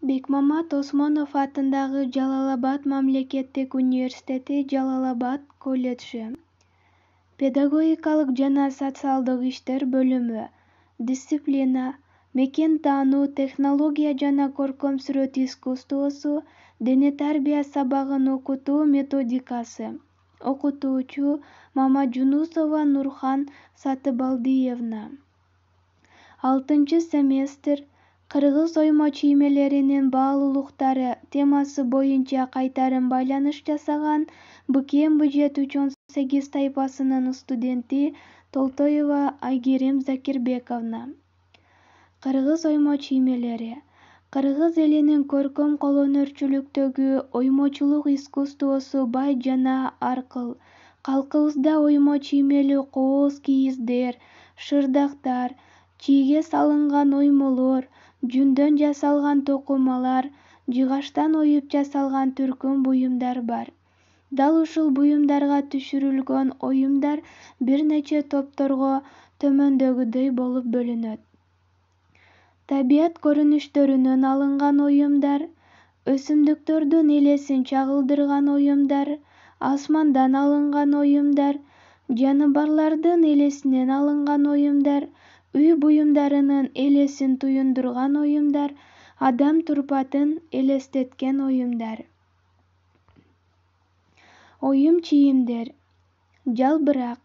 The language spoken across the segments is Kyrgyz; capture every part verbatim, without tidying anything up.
Бекмамат Осмонов атындагы Жалал-Абад мамлекеттик университети Жалал-Абад колледжи. Педагогикалык жана социалдык иштер бөлүмү. Дисциплина: мекен таануу, технология жана көркөм сүрөт искусствосу, дене тарбия сабагын окутуу методикасы. Окутуучу: Мамажунусова Нурхан Сатыбалдиевна. Алтынчы семестр. Кыргыз оймо чиймелеринин баалуулуктары темасы боюнча кайтарым байланыш жасаган Б К М Б жети үч он сегиз тайпасынын студенти Толтоева Айгерим Закирбековна. Кыргыз оймо чиймелери. Кыргыз элинин көркөм колөнөрчүлүктөгү оймочулук искусствосу бай жана аркыл. Калкыбызда оймо чиймелүү кооз кийиздер, шырдактар, чийге салынган оймолор, жүндөн жасалган токумалар, жыгачтан оюп жасалган түркүм буюмдар бар. Дал ушул буюмдарга түшүрүлгөн оюмдар бир нече топторго төмөндөгүдөй болуп бөлүнөт. Табият көрүнүштөрүнөн алынган оюмдар, өсүмдүктөрдүн элесин чагылдырган оюмдар, асмандан алынган оюмдар, жаныбарлардын элесинен алынган оюмдар, үй буюмдарынын элесин туюндурган оюмдар, адам турпатын элестеткен оюмдар. Оюм чийимдер. Жалбырак.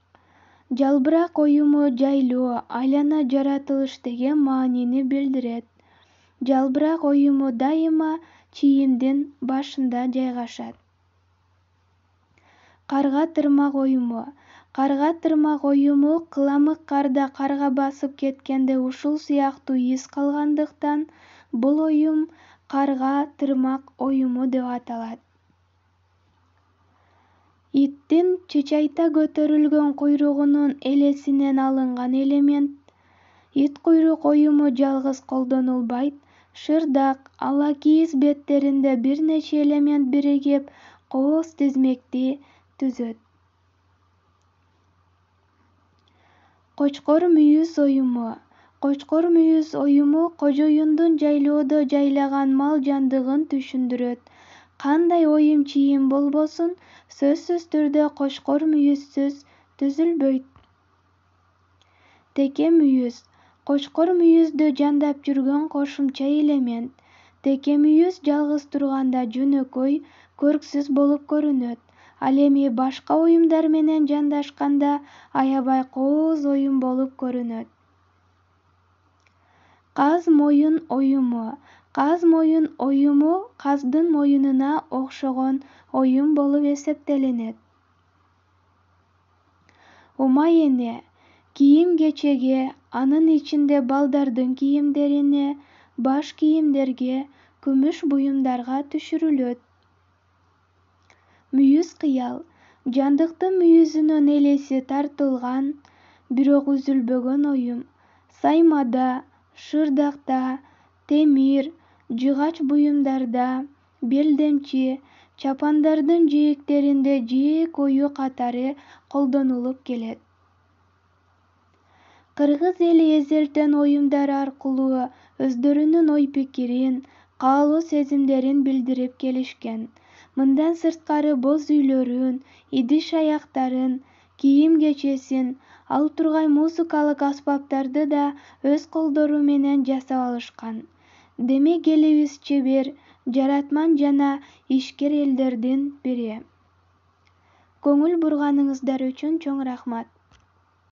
Жалбырак оюму жайлоо, айлана жаратылыш деген маанини билдирет. Жалбырак оюму дайыма чийимдин башында жайгашат. Карга тырмак оюму. Карга тырмак оюму кыламык карда карга басып кеткенде ушул сыяктуу из калгандыктан бул оюм карга тырмак оюму деп аталат. Иттин чычайта көтөрүлгөн куйругунун элесинен алынган элемент. Ит куйрук оюму жалгыз колдонулбайт. Шырдак, ала кийиз беттеринде бир нече элемент биригип кооз тизмекти түзөт. Кочкор мүйүз оюму. Кочкор мүйүз оюму кожоюндун жайлоодо жайлаган мал жандыгын түшүндүрөт. Кандай оюм чийим болбосун, сөзсүз түрдө кочкор мүйүзсүз түзүлбөйт. Теке мүйүз. Кочкор мүйүздү жандап жүргөн кошумча элемент. Теке мүйүз жалгыз турганда жөнөкөй, көрксүз болуп көрүнөт. Ал эми башка оюмдар менен жандашканда аябай кооз оюм болуп көрүнөт. Каз моюн оюму. Каз моюн оюму каздын моюнуна окшогон оюм болуп эсептелинет. Ума эне. Кийим-кечеге, анын ичинде балдардын кийимдерине, баш кийимдерге, күмүш буюмдарга түшүрүлөт. Мүйүз кыял. Жандыктын мүйүзүнүн элеси тартылган, бирок үзүлбөгөн оюм. Саймада, шырдакта, темир, жыгач буюмдарда, белдемчи, чапандардын жээктеринде жээк ою катары колдонулуп келет. Кыргыз эли эзелтен оюмдар аркылуу өздөрүнүн ой-пикирин, каалоо-сезимдерин билдирип келишкен. Мындан сырткары боз үйлөрүн, идиш-аяктарын, кийим-кечесин, ал тургай музыкалык аспаптарды да өз колдору менен жасап алышкан. Демек элибиз чебер, жаратман жана ишкер элдердин бири. Көңүл бурганыңыздар үчүн чоң рахмат.